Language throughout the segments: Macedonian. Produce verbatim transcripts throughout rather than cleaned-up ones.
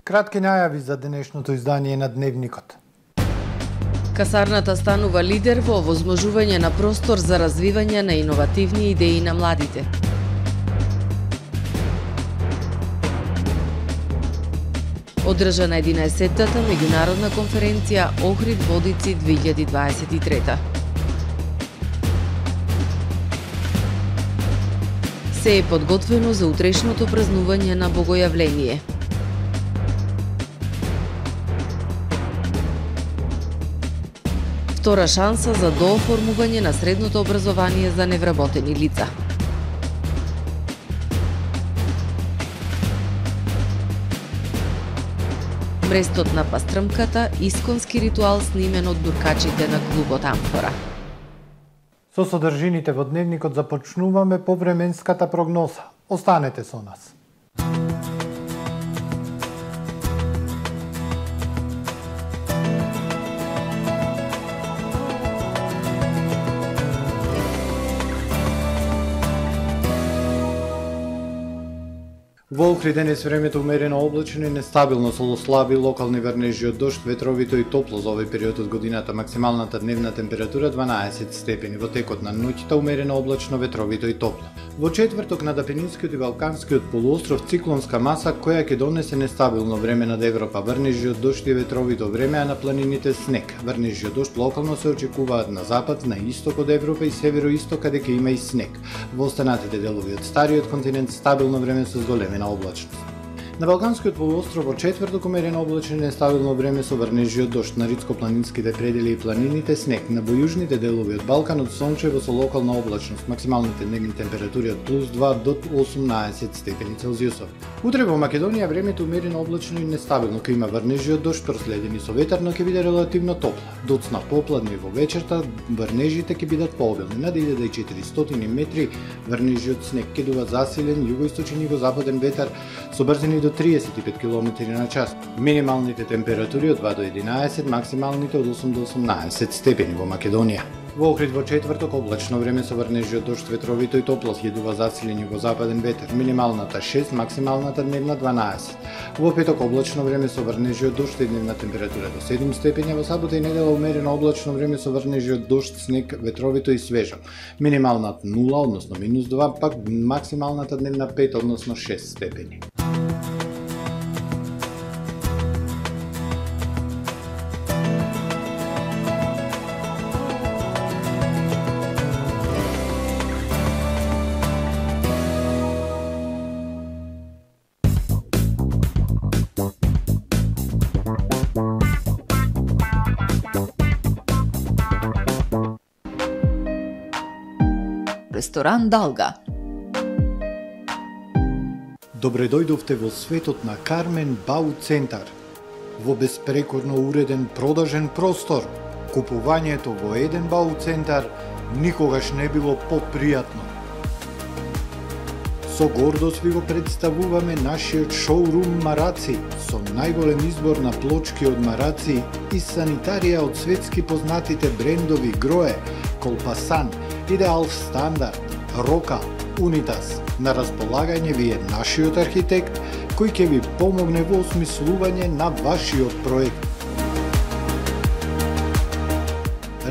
Кратки најави за денешното издание на Дневникот. Касарната станува лидер во овозможување на простор за развивање на иновативни идеи на младите. Одржана единаесеттата меѓународна конференција Охрид Водици две илјади дваесет и трета. Се е подготвено за утрешното празнување на Богојавление. Втора шанса за дооформување на средното образование за невработени лица. Мрестот на пастрмката, исконски ритуал снимен од дуркачите на клубот Амфора. Со содржините во Дневникот започнуваме по временската прогноза. Останете со нас. Во Охрид денес времето умерено облачно и нестабилно со слаби локални врнежи од дожд, ветровито и топло за овој период од годината. Максималната дневна температура дванаесет степени. Во текот на ноќта умерено облачно, ветровито и топло. Во четврток над Апенинскиот и Балканскиот полуостров циклонска маса која ќе донесе нестабилно време над Европа. Врнежи од дожд и ветровито време, а на планините снег. Врнежи од дожд локално се очекуваат на запад, на исток од Европа и североисток каде ќе има и снег. Во останатите делови од стариот континент стабилно време со зголемена облачност. На Балканскиот полуостров во четврток умерено облачно и нестабилно време со врнежи од дожд, на ридско-планинските предели и планините снег, на бојужните делови од Балканот сончево со локална облачност, максималните дневни температури од плюс два до осумнаесет степени Целзиусови. Утре во Македонија времето умерено облачно и нестабилно, ќе има врнежи од дожд проследени со ветар, но ќе биде релативно топло. Доцна попладне во вечерта врнежите ќе бидат пообилни, над илјада и четиристотини метри врнежи од снег, ќе дува засилен југоисточен и југозападен ветар со брзини до триесет и пет километри на час. Минималните температури од два до единаесет, максималните од осум до осумнаесет степени во Македонија. Во Охрид во четврток облачно време со врнежи од дожд, ветровито и топло, ќе дува засилен југозападен ветер. Минималната шест, максималната дневна дванаесет. Во петок облачно време со врнежи од дожд и дневна температура до седум степени, во сабота и недела умерено облачно време со врнежи од дожд, снег, ветровито и свежо. Минималната нула, односно минус два, пак максималната дневна пет, односно шест степени. Ресторан Далга. Добре дојдовте во светот на Кармен Бау Центар. Во беспрекорно уреден продажен простор, купувањето во еден Бау Центар никогаш не било попријатно. Со гордост ви го представуваме нашиот шоурум Мараци, со најголем избор на плочки од мараци и санитарија од светски познатите брендови Грое, Колпасан, Идеал Стандард, Рока, Унитас. На располагање ви е нашиот архитект, кој ќе ви помогне во осмислување на вашиот проект.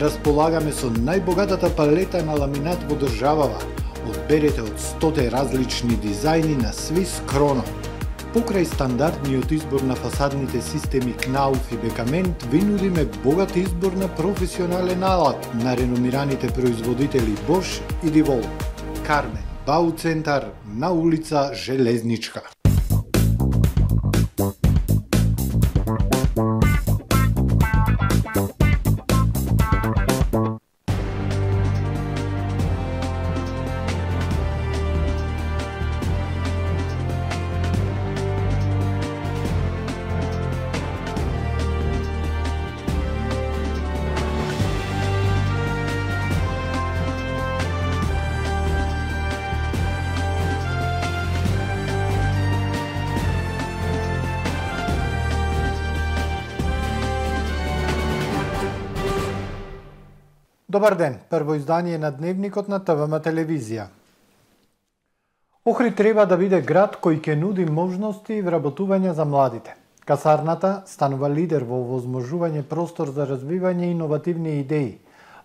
Располагаме со најбогатата палета на ламинат во државава. Одберете од стоте различни дизајни на Swiss Chrono. Покрај стандардниот избор на фасадните системи Кнауф и Бекамент, ви нудиме богат избор на професионален алат на реномираните производители Bosch и Divol. Кармен Бау Центар на улица Железничка. Добар ден, прво издание на Дневникот на ТВМ телевизија. Охрид треба да биде град кој ќе нуди можности и вработување за младите. Касарната станува лидер во овозможување простор за развивање иновативни идеи.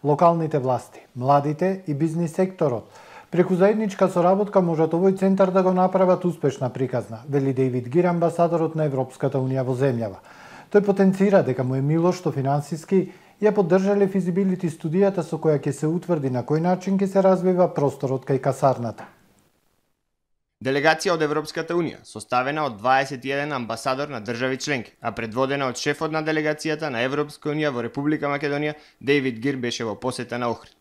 Локалните власти, младите и бизнис секторот преку заедничка соработка можат овој центар да го направат успешна приказна, вели Дејвид Гир, амбасадорот на Европската унија во земјава. Тој потенцира дека му е мило што финансиски ја поддржале физибилити студијата со која ќе се утврди на кој начин ќе се развива просторот кај касарната. Делегација од Европската унија, составена од дваесет и еден амбасадор на држави членки, а предводена од шефот на делегацијата на Европска унија во Република Македонија, Дејвид Гир, беше во посета на Охрид.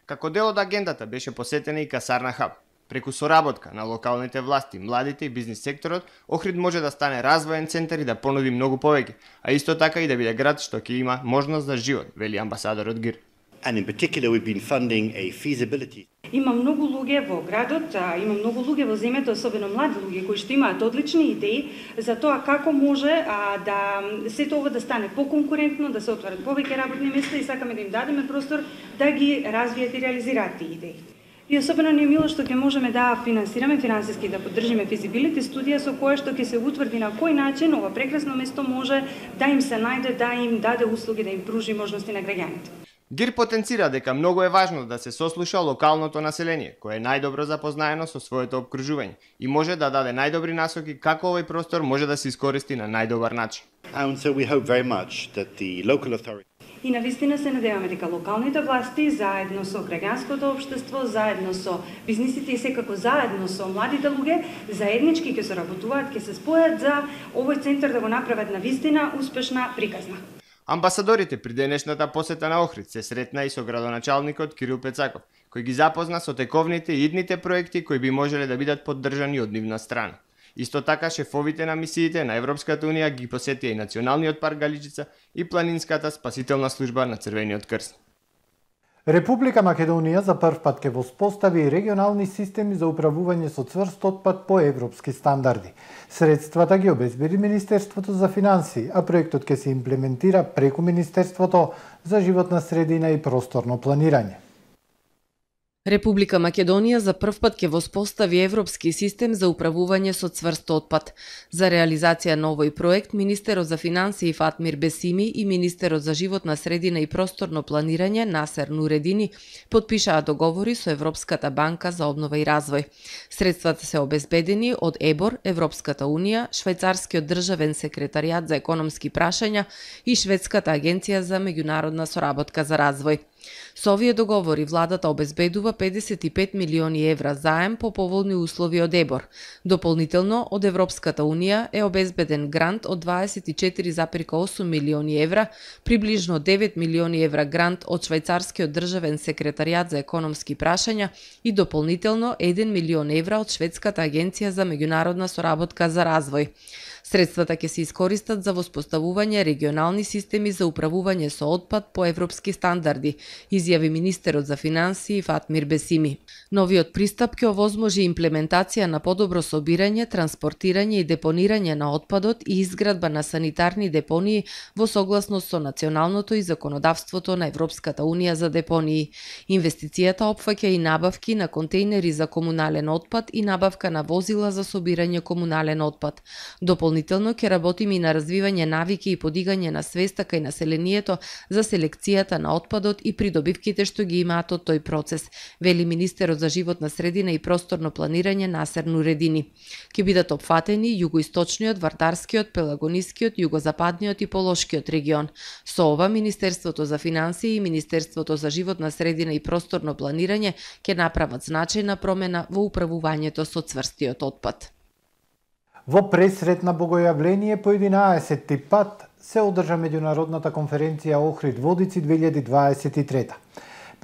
Како дел од агендата беше посетена и Касарна Хаб. Преку соработка на локалните власти, младите и бизнис секторот, Охрид може да стане развоен центар и да понуди многу повеќе, а исто така и да биде град што ќе има можност за живот, вели амбасадорот Гир. And in particular, we've been funding a feasibility. Има многу луѓе во градот, има многу луѓе во земјата, особено млади луѓе кои што имаат одлични идеи за тоа како може а, да сето ова да стане поконкурентно, да се отворат повеќе работни места и сакаме да им дадеме простор да ги развијат и реализираат тие идеи. И особено ни е мило што ќе можеме да финансираме финансиски, да поддржиме физибилити студија со која што ќе се утврди на кој начин ова прекрасно место може да им се најде, да им даде услуги, да им пружи можности на граѓаните. Гир потенцира дека многу е важно да се сослуша локалното население, кое е најдобро запознаено со своето опкружување и може да даде најдобри насоки како овој простор може да се искористи на најдобар начин. And so we hope very much that the local authority И навистина се надеваме дека локалните власти заедно со граѓанското општество, заедно со бизнисите и секако заедно со младите луѓе, заеднички ќе соработуваат, ќе се спојат за овој центар да го направат навистина успешна приказна. Амбасадорите при денешната посета на Охрид се сретна и со градоначалникот Кирил Пецаков, кој ги запозна со тековните и идните проекти кои би можеле да бидат поддржани од нивна страна. Исто така, шефовите на мисиите на Европската унија ги посетија и Националниот парк Галичица и Планинската спасителна служба на Црвениот крст. Република Македонија за прв пат ќе воспостави регионални системи за управување со цврст отпад по европски стандарди. Средствата ги обезбеди Министерството за финансии, а проектот ќе се имплементира преку Министерството за животна средина и просторно планирање. Република Македонија за прв пат ќе воспостави европски систем за управување со цврст отпад. За реализација на овој проект, Министерот за финансии Фатмир Бесими и Министерот за животна средина и просторно планирање Насер Нуредини потпишаа договори со Европската банка за обнова и развој. Средствата се обезбедени од ЕБОР, Европската унија, Швајцарскиот државен секретаријат за економски прашања и Шведската агенција за меѓународна соработка за развој. Со овие договори владата обезбедува педесет и пет милиони евра заем по поволни услови од ЕБОР. Дополнително од Европската унија е обезбеден грант од дваесет и четири зарез и осум милиони евра, приближно девет милиони евра грант од Швајцарскиот државен секретаријат за економски прашања и дополнително еден милион евра од Шведската агенција за меѓународна соработка за развој. Средствата ќе се искористат за воспоставување регионални системи за управување со отпад по европски стандарди, изјави Министерот за финансии Фатмир Бесими. Новиот пристап ќе овозможи имплементација на подобро собирање, транспортирање и депонирање на отпадот и изградба на санитарни депонии во согласност со националното и законодавството на Европската унија за депонии. Инвестицијата опфаќа и набавки на контејнери за комунален отпад и набавка на возила за собирање комунален отпад. Дополнително ќе работиме и на развивање навики и подигање на свеста кај населението за селекцијата на отпадот и придобивките што ги имаат од тој процес, вели Министерот за животна средина и просторно планирање Насер Нуредини. Ќе бидат опфатени југоисточниот, вардарскиот, пелагонискиот, југозападниот и полошкиот регион. Со ова Министерството за финансии и Министерството за животна средина и просторно планирање ќе направат значајна промена во управувањето со цврстиот отпад. Во пресретна богојавление по единаесетти пат се одржа меѓународната конференција Охрид Водици две илјади дваесет и трета.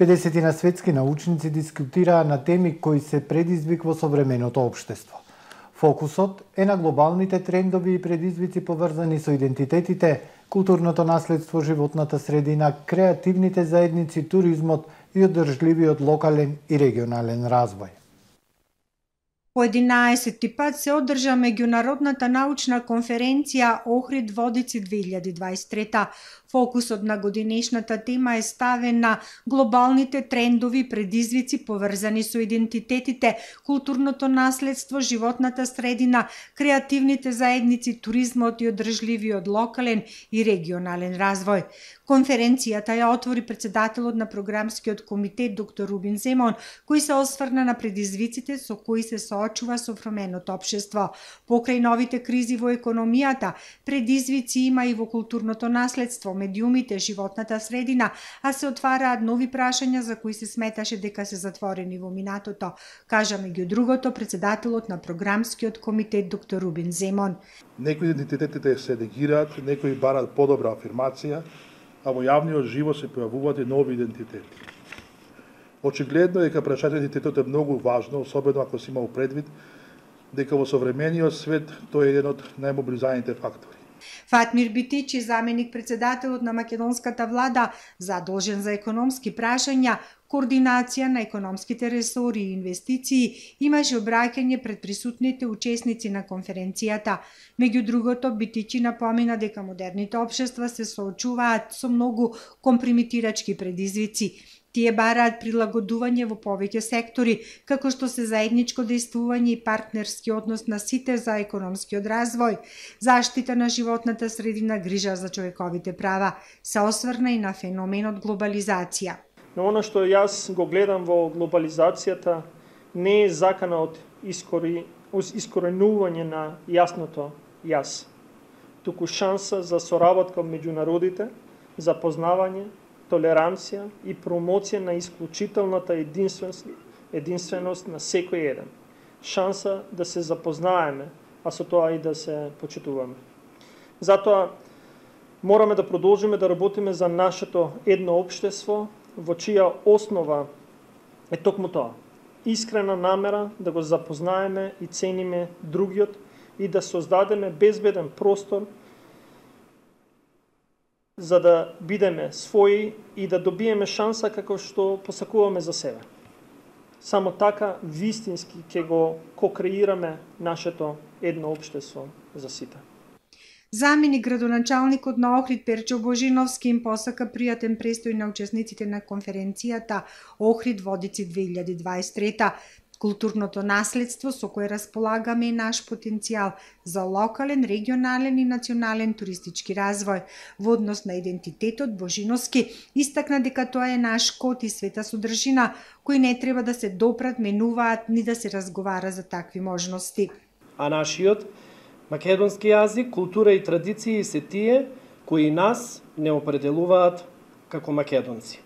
педесетина светски научници дискутираа на теми кои се предизвик во современото општество. Фокусот е на глобалните трендови и предизвици поврзани со идентитетите, културното наследство, животната средина, креативните заедници, туризмот и одржливиот локален и регионален развој. По единаесети пат се одржа меѓународната научна конференција Охрид Водици две илјади дваесет и трета. Фокусот на годинешната тема е ставен на глобалните трендови предизвици поврзани со идентитетите, културното наследство, животната средина, креативните заедници, туризмот и одржливиот локален и регионален развој. Конференцијата ја отвори председателот на програмскиот комитет доктор Рубин Земон, кој се осврна на предизвиците со кои се соочува современото општество. Покрај новите кризи во економијата, предизвици има и во културното наследство, медиумите, животната средина, а се отвараат нови прашања за кои се сметаше дека се затворени во минатото, кажа меѓу другото председателот на програмскиот комитет доктор Рубин Земон. Некои идентитетите се негираат, некои барат подобра афирмација, а во јавниот живот се појавуваат и нови идентитети. Очигледно е дека прашањето идентитетот е многу важно, особено ако се има предвид дека во современиот свет тој е еден од најмобилизираните фактори. Фатмир Битичи, заменик председателот на македонската влада, задолжен за економски прашања, координација на економските ресори и инвестиции, имаше обраќање пред присутните учесници на конференцијата. Меѓу другото, Битичи напомена дека модерните општества се соочуваат со многу компримитирачки предизвици. Тие бараат прилагодување во повеќе сектори, како што се заедничко дејствување и партнерски однос на сите за економскиот развој, заштита на животната средина, грижа за човековите права. Се осврна и на феноменот глобализација. Но она што јас го гледам во глобализацијата не е закана од искори, искоренување на јасното јас, туку шанса за соработка меѓу народите, за познавање, толеранција и промоција на исклучителната единственост, единственост на секој еден. Шанса да се запознаеме, а со тоа и да се почитуваме. Затоа мораме да продолжиме да работиме за нашето едно општество, во чија основа е токму тоа. Искрена намера да го запознаеме и цениме другиот и да создадеме безбеден простор за да бидеме своји и да добиеме шанса како што посакуваме за себе. Само така вистински ќе го кокреираме нашето едно општество за сите. Заменик градоначалникот на Охрид Перчо Божиновски им посака пријатен престој на учесниците на конференцијата Охрид Водици две илјади дваесет и трета. Културното наследство со кое располагаме е наш потенцијал за локален, регионален и национален туристички развој. Во однос на идентитетот, Божиновски истакна дека тоа е наш код и света содржина, кои не треба да се допрат, менуваат, ни да се разговара за такви можности. А нашиот македонски јазик, култура и традиции се тие кои нас не определуваат како македонци.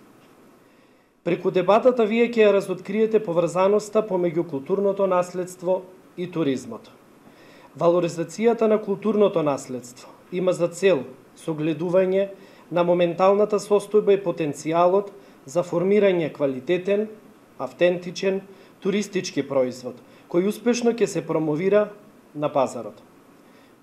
Преку дебатата вие ќе ја разоткриете поврзаноста помеѓу културното наследство и туризмот. Валоризацијата на културното наследство има за цел согледување на моменталната состојба и потенцијалот за формирање квалитетен, автентичен, туристички производ, кој успешно ќе се промовира на пазарот.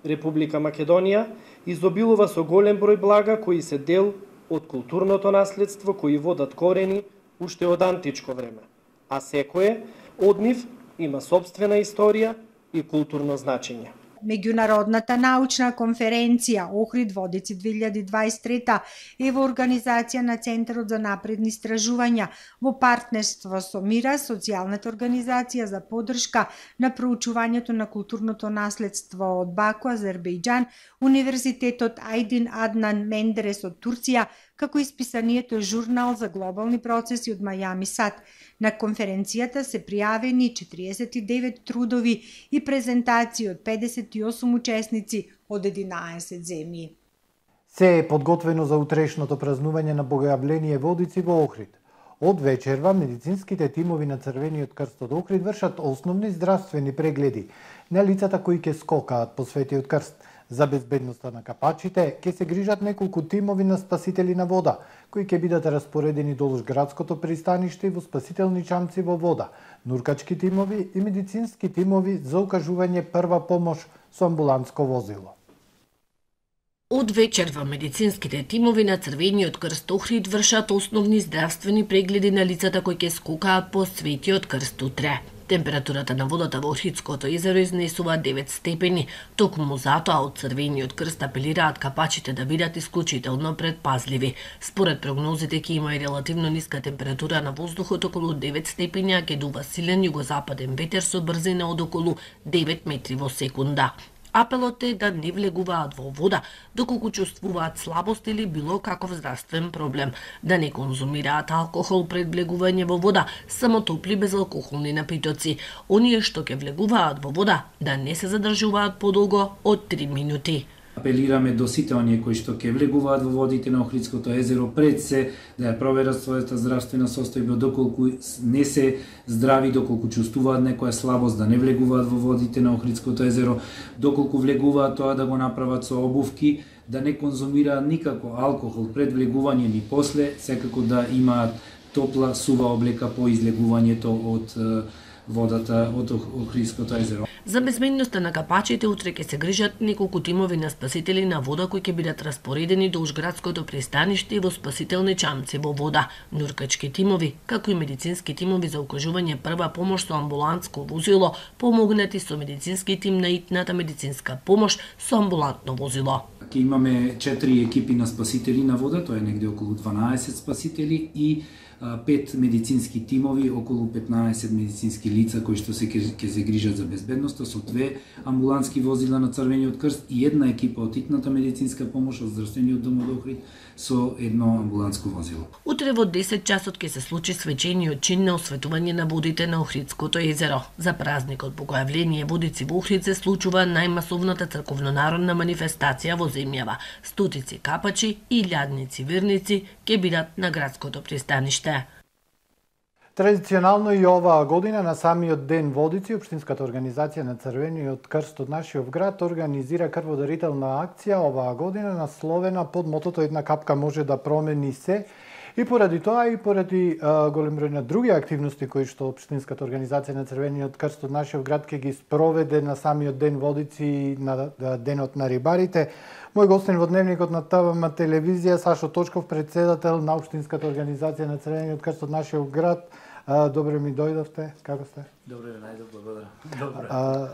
Република Македонија изобилува со голем број блага кои се дел од културното наследство, кои водат корени уште од античко време, а секое од нив има собствена историја и културно значење. Меѓународната научна конференција Охрид Водици две илјади дваесет и трета е во организација на Центарот за напредни истражувања во партнерство со Мира, социјалната организација за поддршка на проучувањето на културното наследство од Баку, Азербејџан, Универзитетот Айдин Аднан Мендерес од Турција, како исписанието Журнал за глобални процеси од Мајами САД. На конференцијата се пријавени четириесет и девет трудови и презентации од педесет и осум учесници од единаесет земји. Се е подготвено за утрешното празнување на Богојавление Водици во Охрид. Од вечерва медицинските тимови на Црвениот крст од Охрид вршат основни здравствени прегледи на лицата кои ќе скокаат по Светиот крст. За безбедноста на капачите ќе се грижат неколку тимови на спасители на вода, кои ќе бидат распоредени долж градското пристаниште и во спасителни чамци во вода, нуркачки тимови и медицински тимови за укажување прва помош со амбулантско возило. Од вечерва медицинските тимови на Црвениот крст Охрид вршат основни здравствени прегледи на лицата кои ќе скокаат по Светиот крст утре. Температурата на водата во Охридското езеро изнесува девет степени. Токму затоа од Црвениот крст апелираат капачите да бидат исклучително предпазливи. Според прогнозите ќе има и релативно ниска температура на воздухот околу девет степени, а ќе дува силен југозападен ветер со брзина од околу девет метри во секунда. Апелот е да не влегуваат во вода доколку чувствуваат слабост или било каков здравствен проблем, да не конзумираат алкохол пред влегување во вода, само топли безалкохолни напитоци. Оние што ќе влегуваат во вода да не се задржуваат подолго од три минути. Апелираме до сите оние кои што ќе влегуваат во водите на Охридското езеро пред се да ја проверат својата здравствена состојба, доколку не се здрави, доколку чувствуваат некоја слабост да не влегуваат во водите на Охридското езеро, доколку влегуваат тоа да го направат со обувки, да не конзумираат никако алкохол пред влегување ни после, секако да имаат топла сува облека по излегувањето од водата од Охридското езеро. За безбедноста на капачите утре ќе се грижат неколку тимови на спасители на вода кои ќе бидат распоредени долж градското пристаниште и во спасителни чамци во вода, нуркачки тимови, како и медицински тимови за укажување прва помош со амбулантско возило, помогнати со медицински тим на итната медицинска помош со амбулантно возило. Ќе имаме четири екипи на спасители на вода, тоа е негде околу дванаесет спасители и пет медицински тимови, околу петнаесет медицински лица кои што се ќе се грижат за безбедноста со две амбулантски возила на Црвениот крст и една екипа од итната медицинска помош од здравствениот дом од Охрид со едно амбулантско возило. Утре во десет часот ќе се случи свечениот чин на осветување на водите на Охридското езеро. За празникот по која явление водици во Охрид се случува најмасовната црковно-народна манифестација во земјава. Стотици капачи и илјадници верници ќе бидат на градското пристаниште. Традиционално и оваа година на самиот ден водици, Општинската организација на Црвениот крст од нашиот град организира крводарителна акција оваа година насловена под мотото "Една капка може да промени се". И поради тоа и поради а, голем број на други активности кои што Општинската организација на Црвениот крст од нашиот град ќе ги спроведе на самиот ден водици на, на денот на рибарите. Мој гостин во дневникот на ТВМ телевизија Сашо Точков, председател на Општинската организација на Црвениот крст од нашиот град. А, добре ми дојдовте. Како сте? Добре, најдов, благодарам. Добре. А,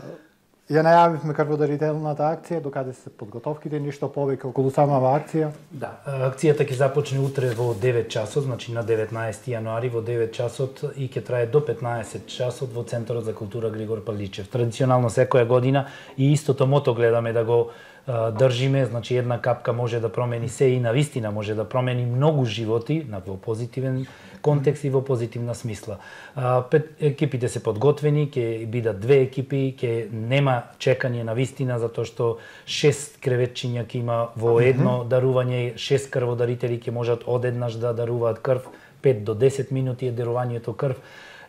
ја најавивме крводарителната акција, докаде се подготовките, ништо повеќе околу самава акција? Да, акцијата ќе започне утре во девет часот, значи на деветнаесети јануари во девет часот и ќе трае до петнаесет часот во Центарот за култура Григор Паличев. Традиционално секоја година и истото мото гледаме да го држиме, значи една капка може да промени се и на вистина може да промени многу животи на во позитивен контекст и во позитивна смисла. Пет екипите се подготвени, ќе бидат две екипи, ќе нема чекање на вистина затоа што шест креветчиња ќе има во едно дарување, шест крводарители ќе можат одеднаш да даруваат крв, пет до десет минути е дарувањето крв.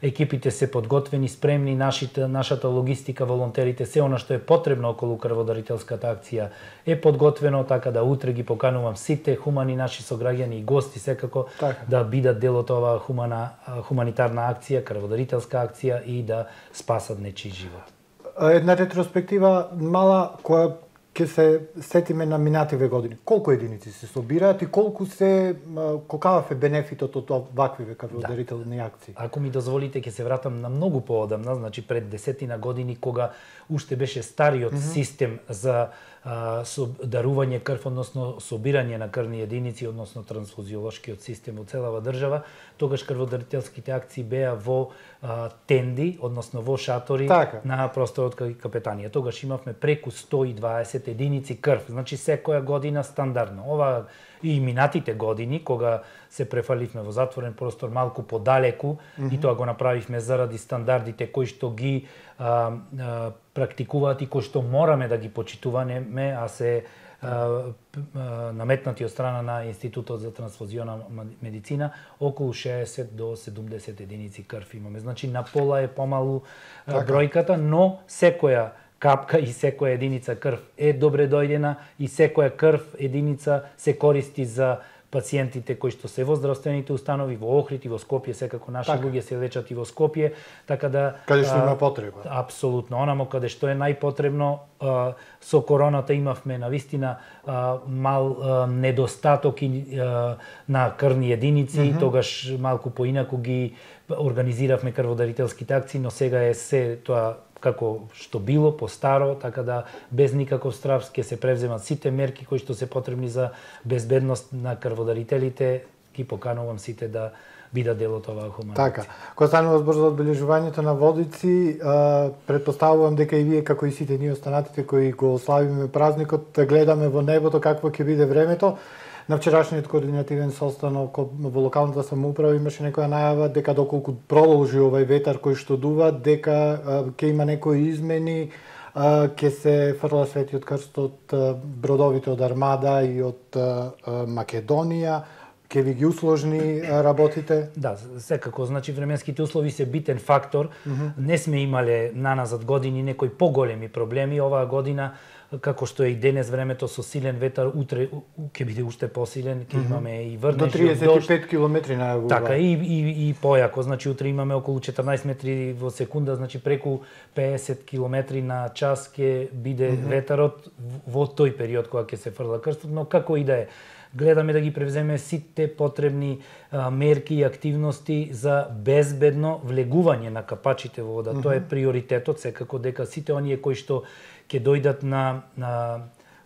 Екипите се подготвени, спремни, нашите, нашата логистика, волонтерите, се она што е потребно околу крводарителската акција е подготвено, така да утре ги поканувам сите хумани наши сограѓани и гости секако так. Да бидат дел од оваа хумана, хуманитарна акција, крводарителска акција и да спасат нечии живот. Една ретроспектива мала која ќе се сетиме на минативе години. Колку единици се собираат и колку се колкав е бенефитот од ваквиве крводарителни акции? Ако ми дозволите ќе се вратам на многу поодамна, значи пред десетина години кога уште беше стариот mm -hmm. систем за а, со, дарување крв, односно собирање на крвни единици, односно трансфузиолошкиот систем во целава држава, тогаш крводарителските акции беа во а, тенди, односно во шатори така. На просторот кај капетанија. Тогаш имавме преку сто и дваесет единици крв, значи секоја година стандардно. Ова и минатите години, кога се префаливме во затворен простор малку подалеку, mm -hmm. и тоа го направивме заради стандардите кои што ги а, а, практикуваат и кои што мораме да ги почитуваме, а се а, а, наметнати од страна на Институтот за трансфузиона медицина, околу шеесет до седумдесет единици крв имаме. Значи на пола е помалу а, бројката, но секоја капка и секоја единица крв е добре дојдена и секоја крв единица се користи за пациентите кои што се во здравствените установи во Охрид и во Скопје, секако наши така. луѓе се лечат и во Скопје, така да каде што има потреба. Апсолутно, онамо каде што е најпотребно. Со короната имавме навистина мал недостаток на крвни единици, mm -hmm. тогаш малку поинаку ги организиравме крводарителските акции, но сега е се тоа како што било, постаро, така да без никаков страв ќе се превземат сите мерки кои што се потребни за безбедност на крводарителите. Ги поканувам сите да бидат дел од оваа хумана Така, акција. кога станува збор за одбележувањето на Водици, предпоставувам дека и вие, како и сите ние останатите кои го славиме празникот, гледаме во небото какво ќе биде времето. На вчерашниот координативен состанок во локалната самоуправа имаше некоја најава дека доколку продолжи овај ветар кој што дува, дека ќе има некои измени, ќе се фрла Светиот крст од бродовите од Армада и од Македонија, ќе ви ги усложни работите? Да, секако, значи временските услови се битен фактор. Mm -hmm. Не сме имале наназад години некои поголеми проблеми. Оваа година, како што е и денес времето со силен ветар, утре ќе биде уште посилен, ќе mm -hmm. имаме и врнежи до триесет и пет километри најавува. Така, и, и, и појако, значи утре имаме околу четрнаесет метри во секунда, значи преку педесет километри на час ќе биде mm -hmm. ветарот во тој период кога ќе се фрла крстот, но како и да е, гледаме да ги превземе сите потребни а, мерки и активности за безбедно влегување на капачите во вода. Mm -hmm. Тоа е приоритетот, секако дека сите оние кои што ќе дојдат на, на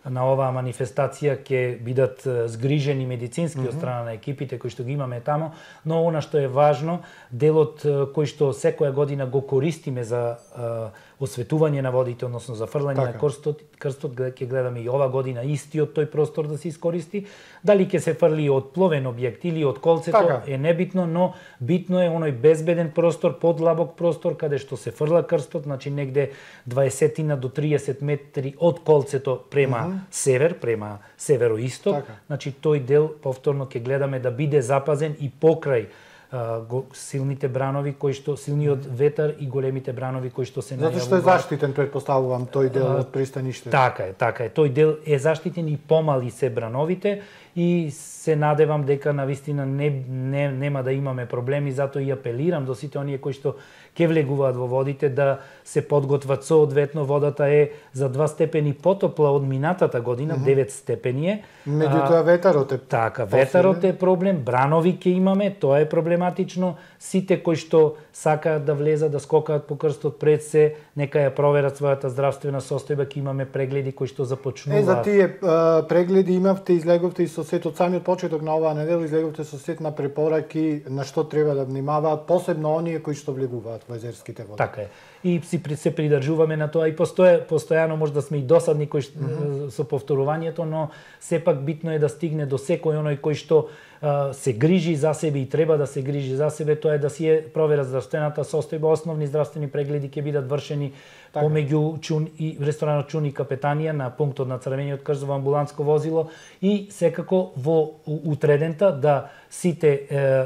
на оваа манифестација ќе бидат згрижени медицински mm -hmm. од страна на екипите кои што ги имаме тамо, но она што е важно, делот кој што секоја година го користиме за а, осветување на водите, односно за фрлање така. на крстот, крстот ќе гледаме и ова година истиот тој простор да се искористи. Дали ќе се фрли од пловен објект или од колцето така. е небитно, но битно е оној безбеден простор, подлабок простор каде што се фрла крстот, значи негде дваесет до триесет метри од колцето према mm -hmm. север, према североисток. Така. Значи тој дел повторно ќе гледаме да биде запазен и покрај Uh, силните бранови кои што силниот ветар и големите бранови кои што се најавуваат. Затоа што е заштитен, предпоставувам, тој дел uh, од пристаништето. Така е, така е. Тој дел е заштитен и помали се брановите и се надевам дека навистина не, не нема да имаме проблеми, затоа и апелирам до сите оние кои што ќе влегуваат во водите да се подготват соодветно. Водата е за два степени потопла од минатата година, mm -hmm. девет степени е. Меѓутоа ветарот е така, ветарот е проблем, бранови ќе имаме, тоа е проблематично. Сите кои што сакаат да влезат, да скокаат по крстот пред се, нека ја проверат својата здравствена состојба, ќе имаме прегледи кои што започнуваат. Е, за тие а, прегледи имавте, излеговте и со сет од самиот почеток на оваа недела, излеговте со сет на препораки на што треба да внимаваат, посебно оние кои што влегуваат во езерските води. Така е. И си се придржуваме на тоа и постоја, постојано може да сме и досадни кои mm -hmm. со повторувањето, но сепак битно е да стигне до секој оној кој што а, се грижи за себе и треба да се грижи за себе, тоа е да си е провера здравствената состојба, основни здравствени прегледи ќе бидат вршени така. Помеѓу Чун и ресторанот Чун и Капетанија на пунктот на Црвениот крст во амбуланско возило и секако во утредента да сите е,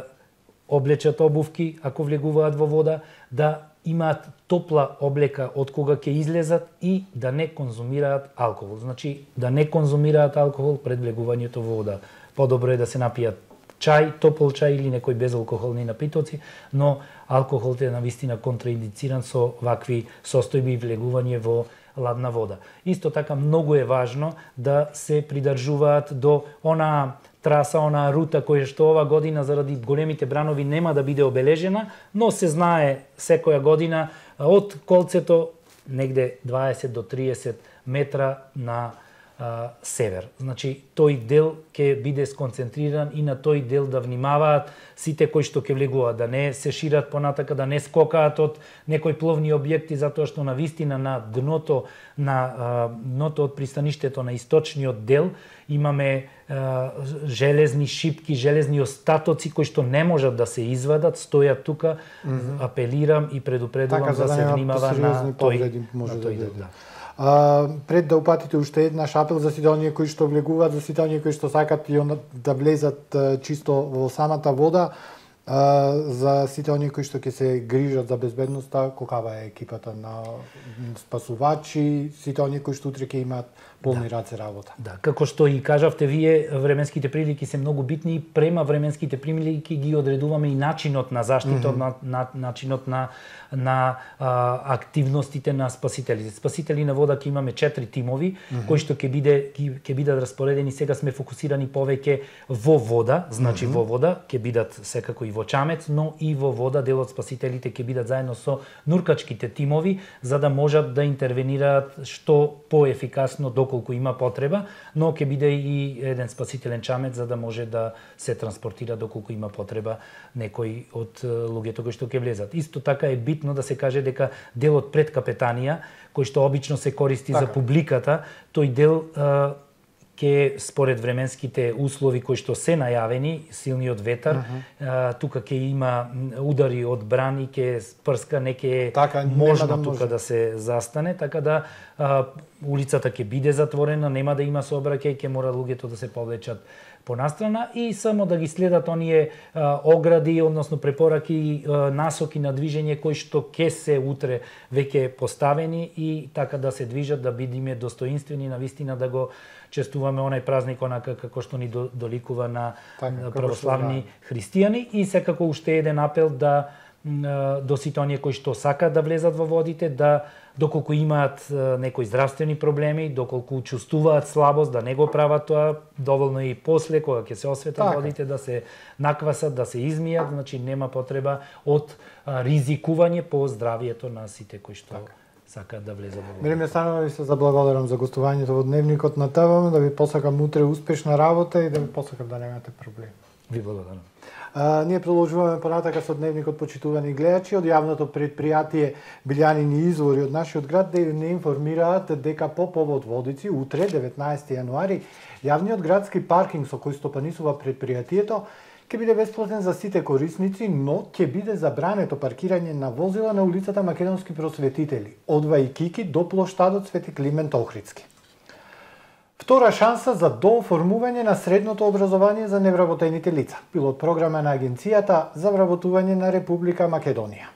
облечат обувки ако влегуваат во вода, да имаат топла облека од кога ќе излезат и да не конзумираат алкохол. Значи, да не конзумираат алкохол пред влегувањето во вода. Подобро е да се напијат чај, топол чај или некои безалкохолни напитоци, но алкохолот е навистина контраиндициран со вакви состојби и влегување во ладна вода. Исто така многу е важно да се придржуваат до она траса, она рута која што ова година заради големите бранови нема да биде обележена, но се знае секоја година од колцето негде дваесет до триесет метра на а, север. Значи, тој дел ќе биде сконцентриран и на тој дел да внимаваат сите кои што ќе влегуваат, да не се шират понатака, да не скокаат од некои пловни објекти, затоа што на вистина на дното, на а, дното од пристаништето на источниот дел имаме а, железни шипки, железни остатоци кои што не можат да се извадат, стојат тука, mm -hmm. апелирам и предупредувам така, да, да се внимава на тој, може на тој дел. Да. А, пред да упатите уште еднаш апел за сите оние кои што влегуваат, за сите оние кои што сакат и да влезат чисто во самата вода, А, за сите оние кои што ќе се грижат за безбедноста, колкава е екипата на спасувачи, сите оние кои што утре ќе имаат полни да. раце работа. Да, како што и кажавте вие, временските прилики се многу битни и према временските прилики ги одредуваме и начинот на заштита, mm -hmm. на, на начинот на на а, активностите на спасителите. Спасители на вода ќе имаме четири тимови mm -hmm. кои што ќе биде ќе бидат распоредени. Сега сме фокусирани повеќе во вода, значи mm -hmm. во вода ќе бидат секако и во Чамец, но и во вода дел од спасителите ќе бидат заедно со нуркачките тимови за да можат да интервенираат што поефикасно доколку има потреба, но ќе биде и еден спасителен чамец за да може да се транспортира доколку има потреба некој од луѓето кои што ќе влезат. Исто така е битно да се каже дека делот пред капетанија, кој што обично се користи така. за публиката, тој дел а, ке според временските услови кои што се најавени, силниот ветар, uh -huh. а, тука ќе има удари од брани, ќе прска, не ќе така, можно да тука може. да се застане, така да а, улицата ќе биде затворена, нема да има сообраќај, ќе мора луѓето да се повлечат понастрана и само да ги следат оние а, огради, односно препораки, а, насоки на движење кои што ќе се утре веќе поставени и така да се движат, да бидиме достоинствени на вистина да го честуваме онај празник онака како што ни доликува на така, православни да. христијани и секако уште еден апел да до сите оние кои што сакаат да влезат во водите, да доколку имаат некои здравствени проблеми, доколку чувствуваат слабост, да не го прават тоа, доволно и после кога ќе се осветат така. водите да се наквасат, да се измијат, значи нема потреба од ризикување по здравието на сите кои што така. сакаат да влезат во водите. Мириме Станова, ви се заблагодарам за гостувањето во Дневникот на ТВ, да ви посакам утре успешна работа и да ви посакам да немате проблеми. Ви благодарам. А, ние продолжуваме понатака со Дневникот, почитувани гледачи. Од јавното предпријатие Билјанини извори од нашиот град да не информираат дека по повод Водици, утре, деветнаесети јануари, јавниот градски паркинг со кој стопанисува предпријатието ќе биде бесплатен за сите корисници, но ќе биде забрането паркирање на возила на улицата Македонски просветители, од Вајкики до плоштадот Свети Климент Охридски. Втора шанса за дооформување на средното образование за невработените лица. Пилот програма на Агенцијата за вработување на Република Македонија.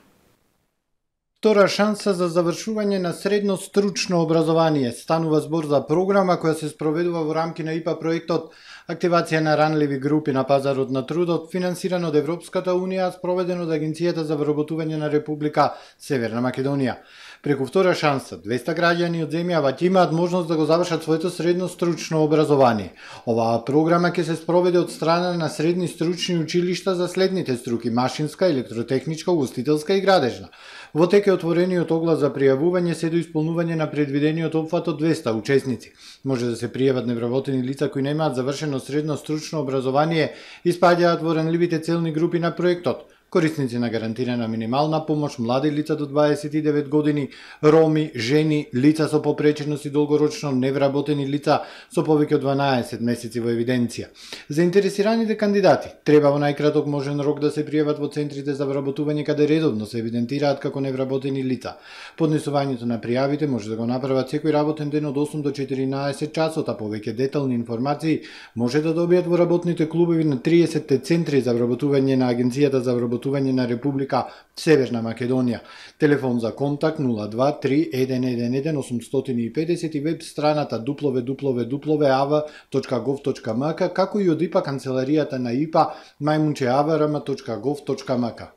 Втора шанса за завршување на средно стручно образование. Станува збор за програма која се спроведува во рамки на ИПА проектот Активација на ранливи групи на пазарот на трудот, финансиран од Европската Унија, спроведен од Агенцијата за вработување на Република Северна Македонија. Преку втора шанса, двеста граѓани од земјава ќе имаат можност да го завршат своето средно стручно образование. Оваа програма ќе се спроведе од страна на средни стручни училишта за следните струки: машинска, електротехничка, угостителска и градежна. Во тек е отворениот оглас за пријавување се до исполнување на предвидениот опфат од двеста учесници. Може да се пријават невработени лица кои немаат завршено средно стручно образование и спаѓаат во ранливите целни групи на проектот. Корисници на гарантирана минимална помош, млади лица до дваесет и девет години, роми, жени, лица со попреченост и долгорочно невработени лица со повеќе од дванаесет месеци во евиденција. Заинтересираните кандидати треба во најкраток можен рок да се пријават во центрите за вработување каде редовно се евидентираат како невработени лица. Поднесувањето на пријавите може да го направат секој работен ден од осум до четиринаесет часот, а повеќе детални информации може да добијат во работните клубови на триесетте центри за вработување на Агенцијата за вработување на Република Северна Македонија. Телефон за контакт нула два три еден еден еден осум и петдесет и веб страната дабл ю дабл ю дабл ю точка а в точка гов точка ем ка, како и од ИПА канцеларијата на ИПА мајмунче а в р м точка гов точка ем ка.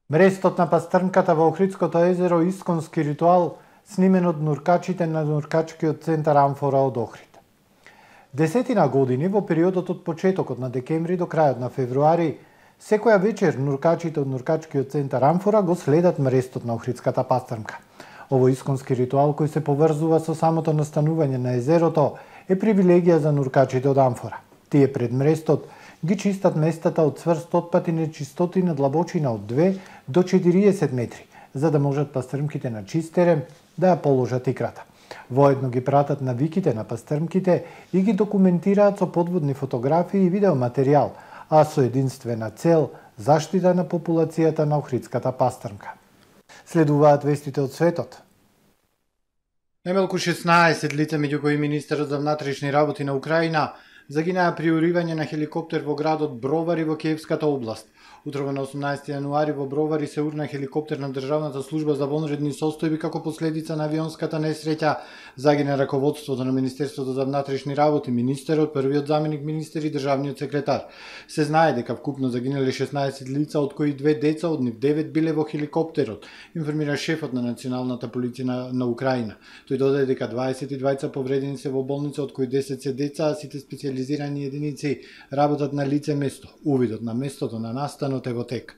Мрестот на пастрнката во Охридското езеро исконски ритуал снимен од нуркачите на нуркачкиот центар Амфора од Охрид. Десетина години во периодот од почетокот на декември до крајот на февруари, секоја вечер нуркачите од нуркачкиот центар Амфора го следат мрестот на Охридската пастрнка. Овој исконски ритуал кој се поврзува со самото настанување на езерото е привилегија за нуркачите од Амфора. Тие пред мрестот ги чистат местата од цврст отпад и нечистоти на длабочина од две до четириесет метри, за да можат пастрмките на чистерем да ја положат икрата. Воедно ги пратат навиките на пастрмките и ги документираат со подводни фотографии и видеоматеријал, а со единствена цел заштита на популацијата на Охридската пастрнка. Следуваат вестите од светот. Најмалку шеснаесет лица, меѓу кои министерот за внатрешни работи на Украина, загинаа при уривање на хеликоптер во градот Бровари во Киевската област. Утрово на осумнаесети јануари во Бровари се урна хеликоптер на Државната служба за вонредни состојби како последица на авионската несреќа. Загина раководството на Министерството за внатрешни работи, министерот, првиот заменик министер и државниот секретар. Се знае дека вкупно загинале шеснаесет лица, од кои две деца, од нив девет биле во хеликоптерот, информира шефот на Националната полиција на, на Украина. Тој додаде дека дваесет и двајца повредени се во болница, од кои десет се деца, а сите специјализирани единици работат на лице место. Увидот на местото на настанот е во тек.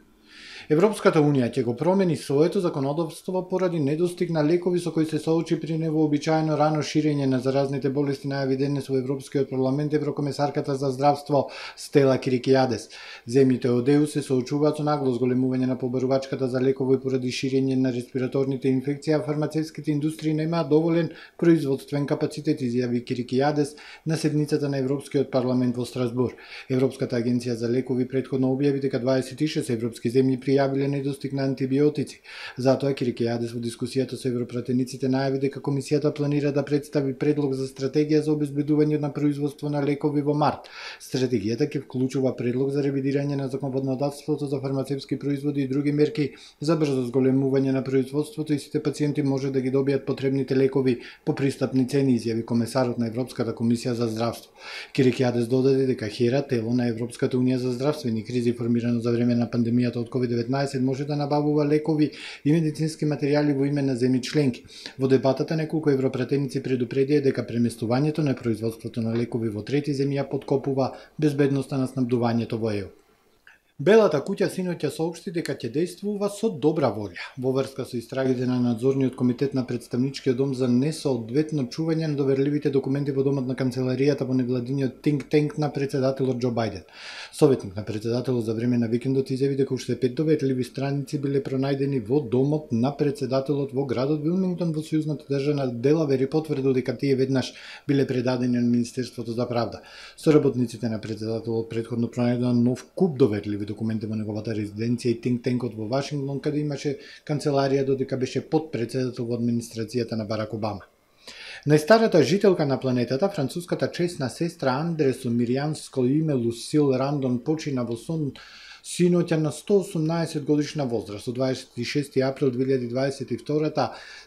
Европската Унија ќе го промени своето законодавство поради недостиг на лекови со кои се соочи при невообичаено рано ширење на заразните болести, најави денес во Европскиот парламент еврокомесарката за здравство Стела Кирикијадес. Земјите од ЕУ се соочуваат со нагло зголемување на побарувачката за лекови поради ширење на респираторните инфекции, а фармацевските индустрии немаат доволен производствен капацитет, изјави Кирикијадес на седницата на Европскиот парламент во Страсбур. Европската агенција за лекови претходно објави дека дваесет и шест европски земји пријавиле недостиг на антибиотици. Затоа Кирикијадес во дискусијата со европратениците најави дека комисијата планира да представи предлог за стратегија за обезбедување на производство на лекови во март. Стратегијата ќе вклучува предлог за ревидирање на законодавството за фармацевски производи и други мерки за брзо зголемување на производството и сите пациенти може да ги добијат потребните лекови по пристапни цени, изјави комесарот на Европската комисија за здравство. Кирикијадес додаде дека ХЕРА, тело на Европската унија за здравствени кризи формирано за време на пандемијата од ковид деветнаесет, може да набавува лекови и медицински материјали во име на земји членки. Во дебатата неколку европратеници предупредија дека преместувањето на производството на лекови во трети земји ја подкопува безбедноста на снабдувањето во ЕУ. Белата куќа синоќа соопшти дека ќе действува со добра волја во врска со истрагите на надзорниот комитет на представничкиот дом за несоодветно чување на доверливите документи во домот на канцеларијата во невладиниот think tank на председателот Џо Бајден. Советник на председателот за време на викендот изјави дека уште пет доверливи страници биле пронајдени во домот на председателот во градот Вилмингтон во сојузната држава Делавер и потврдил дека тие веднаш биле предадени на Министерството за правда. Соработниците на председателот претходно пронајдоа нов куп доверливи документи во неговата резиденција и think tankот во Вашингтон, каде имаше канцеларија додека беше подпредседател во администрацијата на Барак Обама. Најстарата жителка на планетата, француската чесна сестра Андре со миријанско име Лусил Рандон, почина во сон синоќа на сто осумнаесет годишна возраст. Од дваесет и шести април две илјади дваесет и втора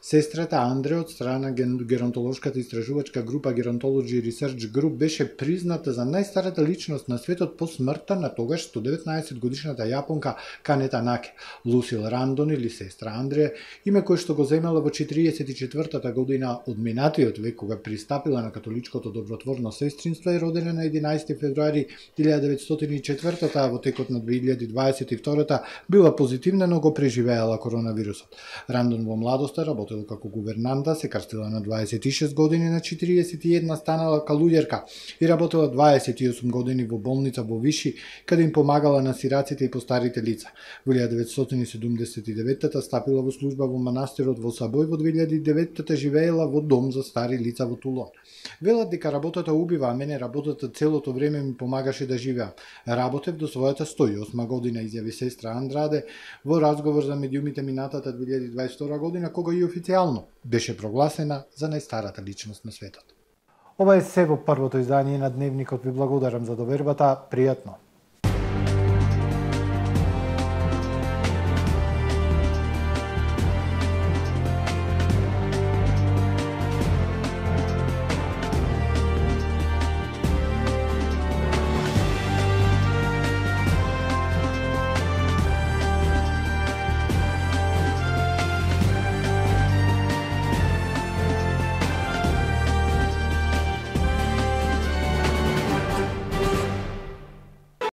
сестрата Андре од страна геронтолошката истражувачка група Gerontology Research Group беше призната за најстарата личност на светот по смртта на тогаш сто деветнаесет годишната јапонка Канета Наке. Лусил Рандон или сестра Андре, име кое што го земела во четириесет и четвртата година од минатиот век, кога пристапила на католичкото добротворно сестринство, е родена на единаесети февруари илјада деветстотини и четвртата, а во текот на две илјади дваесет и втора била позитивна, но го преживеала коронавирусот. Рандон во младоста работела како гувернанта, се крстила на дваесет и шест години, на четириесет и една станала калуѓерка и работела дваесет и осум години во болница во Виши, каде им помагала на сираците и постарите лица. Во илјада деветстотини седумдесет и деветта стапила во служба во манастирот во Сабој, во две илјади и деветта живеела во дом за стари лица во Тулон. Велат дека работата убива, а мене работата целото време ми помагаше да живеам. Работев до својата сто и осма година, изјави сестра Андраде во разговор за медиумите минатата две илјади дваесет и втора година, кога и официјално беше прогласена за најстарата личност на светот. Ова е се во првото издание на Дневникот. Ви благодарам за довербата. Пријатно!